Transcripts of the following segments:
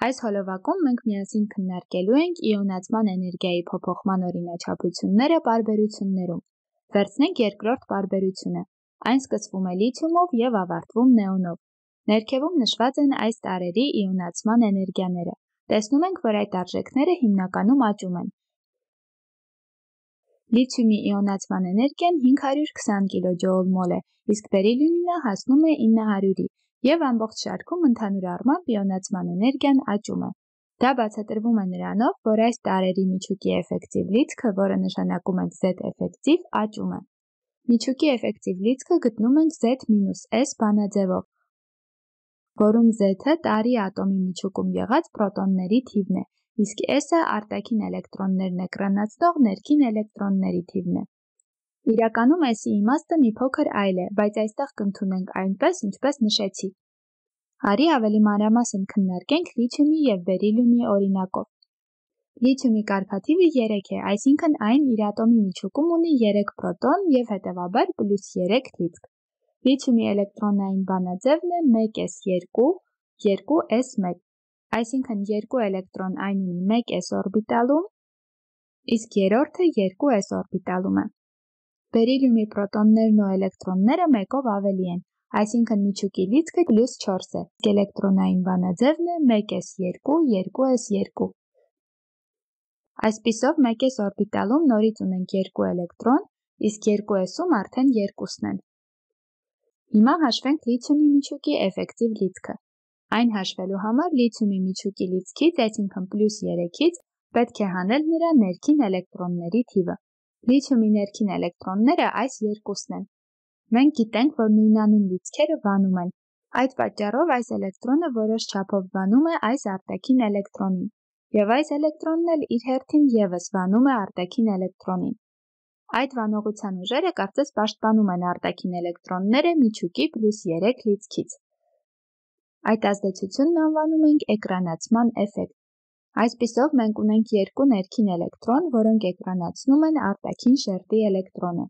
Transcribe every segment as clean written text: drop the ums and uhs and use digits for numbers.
Այս հոլովակում մենք միասին քննարկելու ենք իոնացման էներգիայի փոփոխման օրինաչափությունները պարբերություններում։ Վերցնենք երկրորդ պարբերությունը։ Այն սկսվում է լիթիումով և ավարտվում նեոնով։ Ներքևում նշված են այս տարրերի իոնացման էներգիաները։ Տեսնում ենք, որ այդ արժեքները հիմնականում աճում են։ Լիթիումի իոնացման էներգիան 520 կիլոջոուլ/մոլ է, իսկ բերիլիումինը հասնում է 900-ի, և ամբողջ շարքում ընդհանուր առմամբ իոնացման էներգիան աճում է։ Դա բացատրվում է նրանով, որ այս տարրերի միջուկի էֆեկտիվ լիցքը, որը նշանակում ենք Z էֆեկտիվ, աճում է։ Միջուկի էֆեկտիվ լիցքը գտնում ենք Z-S բանաձևով, որում Z-ը տարրի ատոմի միջուկում եղած պրոտոնների թիվն է, իսկ S-ը արտաքին էլեկտրոններն էկրանացնող ներքին էլեկտրոնների թիվն է։ Իրականում S-ի իմաստը մի փոքր այլ է, բայց այստեղ կընդունենք այնպես, ինչպես նշեցի։ Արի ավելի մանրամասն քննարկենք լիթիումի և բերիլիումի օրինակով։ Լիթիումի կարգաթիվը 3 է, այսինքն այն իր ատոմի միջուկում ունի 3 պրոտոն և հետևաբար +3 լիցք։ Լիթիումի էլեկտրոնային բանաձևն է 1s2, 2s1, այսինքն 2 էլեկտրոն այն ունի 1s օրբիտալում, իսկ երրորդը 2s օրբիտալում է։ Բերիլիումի պրոտոններն ու էլեկտրոնները մեկով ավելի են, այսինքն միջուկի լիցքը +4 է, իսկ էլեկտրոնային բանաձևն է 1s2, 2s2։ Այսպիսով 1s օրբիտալում նորից ունենք 2 էլեկտրոն, իսկ 2s-ում արդեն 2-ն են։ Հիմա հաշվենք լիթիումի միջուկի էֆեկտիվ լիցքը։ Այն հաշվելու համար լիթիումի միջուկի լիցքից, այսինքն +3-ից, պետք է հանել նրա ներքին էլեկտրոնների թիվը։ Լիթիումի ներքին էլեկտրոնները այս 2-ն են։ Մենք գիտենք, որ նույնանուն լիցքերը վանում են։ Այդ պատճառով այս էլեկտրոնը որոշ չափով վանում է այս արտաքին էլեկտրոնին, և այս էլեկտրոնն էլ իր հերթին ևս վանում է արտաքին էլեկտրոնին։ Այդ վանողության ուժերը կարծես պաշտպանում են արտաքին էլեկտրոնները միջուկի +3 լիցքից։ Այդ ազդեցությունն անվանում ենք էկրանացման էֆեկտ։ Այսպիսով մենք ունենք 2 ներքին էլեկտրոն, որոնք էկրանացնում են արտաքին շերտի էլեկտրոնը։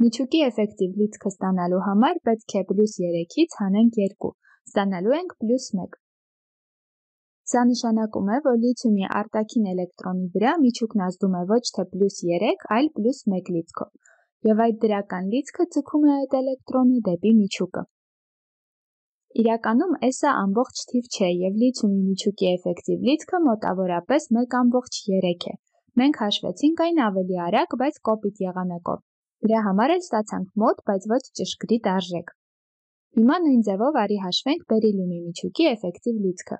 Միջուկի էֆեկտիվ լիցքը ստանալու համար պետք է +3-ից հանենք 2, ստանալու ենք +1։ Սա նշանակում է, որ լիթիումի արտաքին էլեկտրոնի վրա միջուկն ազդում է ոչ թե +3, այլ +1 լիցքով, և այդ դրական լիցքը ձգում է այդ էլեկտրոնը դեպի միջուկը։ Իրականում S-ը ամբողջ թիվ չէ, և լիթիումի միջուկի էֆեկտիվ լիցքը մոտավորապես 1/3 է։ Մենք հաշվեցինք այն ավելի արագ, բայց կոպիտ եղանակով։ Դրա համար էլ ստացանք մոտ, բայց ոչ ճշգրիտ արժեք։ Հիմա նույն ձևով արի հաշվենք բերիլիումի միջուկի էֆեկտիվ լիցքը։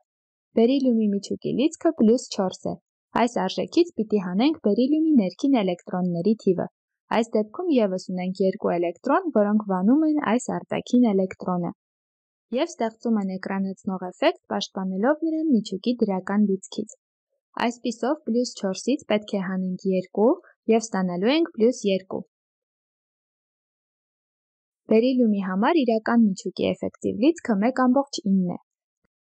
Բերիլիումի միջուկի լիցքը +4 է։ Այս արժեքից պիտի հանենք բերիլիումի ներքին էլեկտրոնների թիվը։ Այս դեպքում ևս ունենք 2 էլեկտրոն, որոնք վանում են այս արտաքին էլեկտրոնը և ստեղծում են էկրանացնող էֆեկտ, պաշտպանելով նրան միջուկի դրական լիցքից։ Այսպիսով +4-ից պետք է հանենք 2 և ստանալու ենք +2։ Բերիլիումի համար իրական միջուկի էֆեկտիվ լիցքը 1/9 է։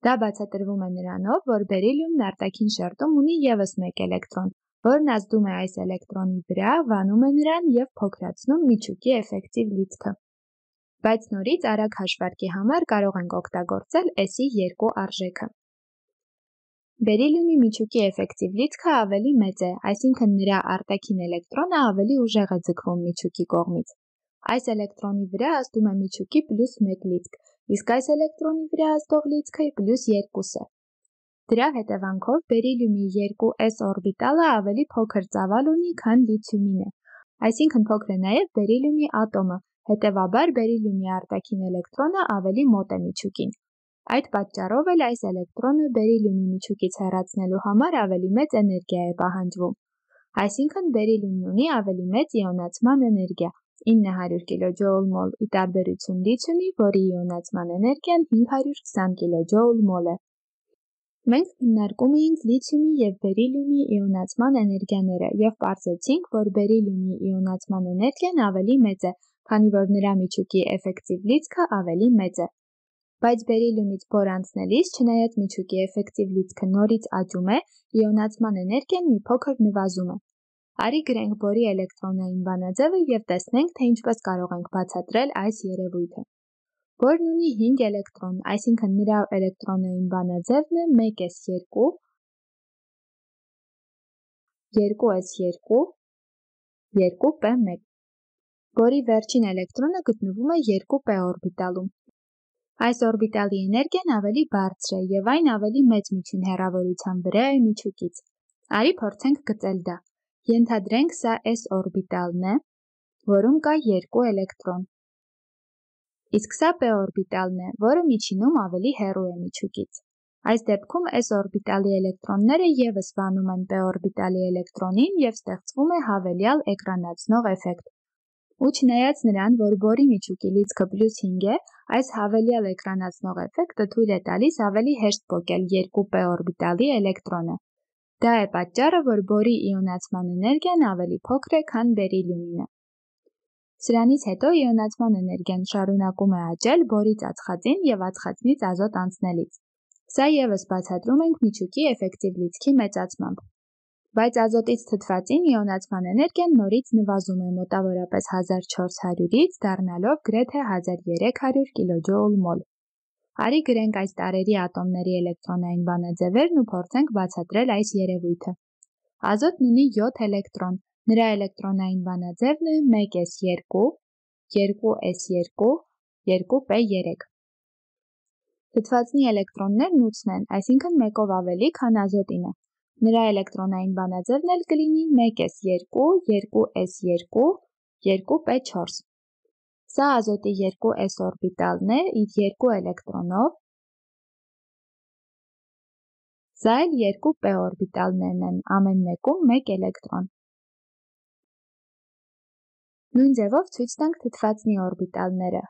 Դա բացատրվում է նրանով, որ բերիլիումն արտաքին շերտում ունի ևս 1 էլեկտրոն, որն ազդում է այս էլեկտրոնի վրա, վանում է նրան և փոքրացնում միջուկի էֆեկտիվ լիցքը։ Բայց նորից արագ հաշվարկի համար կարող ենք օգտագործել S-ի 2 արժեքը։ Բերիլիումի միջուկի էֆեկտիվ լիցքը ավելի մեծ է, այսինքն նրա արտաքին էլեկտրոնը ավելի ուժեղ է ձգվում միջուկի կողմից։ Այս էլեկտրոնի վրա ազդում է միջուկի +1 լիցք, իսկ այս էլեկտրոնի վրա ազդող լիցքը +2 է։ Դրա հետևանքով բերիլիումի 2s օրբիտալը ավելի փոքր ծավալ ունի, քան լիթիումինը, այսինքն փոքր է նաև բերիլիումի ատոմը, հետևաբար բերիլիումի արտաքին էլեկտրոնը ավելի մոտ է միջուկին։ Այդ պատճառով էլ այս էլեկտրոնը բերիլիումի միջուկից հեռացնելու համար ավելի մեծ էներգիա է պահանջվում։ Այսինքն բերիլիումն ունի ավելի մեծ իոնացման էներգիա՝ 900 կիլոջոուլ/մոլ, ի տարբերություն լիթիումի, որի իոնացման էներգիան 520 կիլոջոուլ/մոլ է։ Մենք քննարկում էինք լիթիումի և բերիլիումի իոնացման էներգիաները և պարզեցինք, որ բերիլիումի իոնացման էներգիան ավելի մեծ է, քանի որ նրա միջուկի էֆեկտիվ լիցքը ավելի մեծ է։ Բայց բերիլիումից բոր անցնելիս, չնայած միջուկի էֆեկտիվ լիցքը նորից աճում է, իոնացման էներգիան մի փոքր նվազում է։ Արի գրենք բորի էլեկտրոնային բանաձևը և տեսնենք, թե ինչպես կարող ենք բացատրել այս երևույթը։ որն ունի 5 էլեկտրոն, այսինքն նրա էլեկտրոնային բանաձևն է 1s2, 2s2, 2p1, որի վերջին էլեկտրոնը գտնվում է 2p օրբիտալում։ Այս օրբիտալի էներգիան ավելի բարձր է և այն ավելի մեծ միջին հեռավորության վրա է միջուկից։ Արի փորձենք գծել դա։ Ենթադրենք սա s օրբիտալն է, որում կա 2 էլեկտրոն։ Իսկ սա p օրբիտալն է, որը միջինում ավելի հեռու է միջուկից։ Այս դեպքում s օրբիտալի էլեկտրոնները ևս վանում են p օրբիտալի էլեկտրոնին և ստեղծվում է հավելյալ էկրանացնող էֆեկտ։ Ու չնայած նրան, որ բորի միջուկի լիցքը +5 է, այս հավելյալ էկրանացնող էֆեկտը թույլ է տալիս ավելի հեշտ պոկել 2p օրբիտալի էլեկտրոնը։ Դա է պատճառը, որ բորի իոնացման էներգիան ավելի փոքր է, քան բերիլիումինը։ Սրանից հետո իոնացման էներգիան շարունակում է աճել բորից ածխածին և ածխածնից ազոտ անցնելիս։ Սա ևս բացատրում ենք միջուկի էֆեկտիվ լիցքի մեծացմամբ։ Բայց ազոտից թթվածին իոնացման էներգիան նորից նվազում է մոտավորապես 1400-ից, դառնալով գրեթե 1300 կJ/մոլ։ Արի գրենք այս տարրերի ատոմների էլեկտրոնային բանաձևերն ու փորձենք բացատրել այս երևույթը։ Ազոտն ունի 7 էլեկտրոն, նրա էլեկտրոնային բանաձևն է 1s2, 2s2, 2p3։ Թթվածնի էլեկտրոններն 8 են, այսինքն մեկով ավելի, քան ազոտինը։ Նրա էլեկտրոնային բանաձևն էլ կլինի 1s2, 2s2, 2p4։ Սա ազոտի 2s օրբիտալն է իր 2 էլեկտրոնով, սա էլ 2p օրբիտալներն են, ամեն մեկում 1 էլեկտրոն։ Նույն ձևով ցույց տանք թթվածնի օրբիտալները։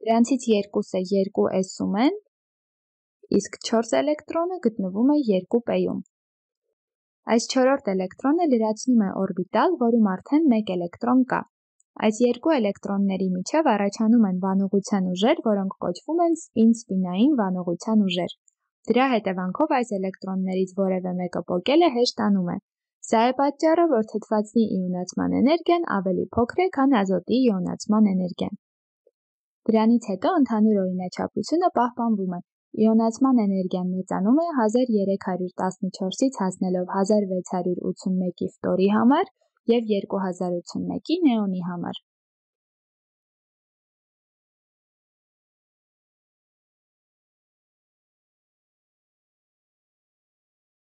Դրանցից երկուսը 2s-ում են, իսկ 4 էլեկտրոնը գտնվում է 2p-ում։ Այս չորրորդ էլեկտրոնը լրացնում է օրբիտալ, որում արդեն 1 էլեկտրոն կա։ Այս երկու էլեկտրոնների միջև առաջանում են վանողության ուժեր, որոնք կոչվում են սպին-սպինային վանողության ուժեր։ Դրա հետևանքով այս էլեկտրոններից որևէ մեկը պոկելը հեշտանում է։ Սա է պատճառը, որ թթվածնի իոնացման էներգիան ավելի փոքր է, քան ազոտի իոնացման էներգիան։ Դրանից հետո ընդհանուր օրինաչափությունը պահպանվում է։ Իոնացման էներգիան մեծանում է 1314-ից հասնելով 1681-ի ֆտորի համար և 2081-ի նեոնի համար։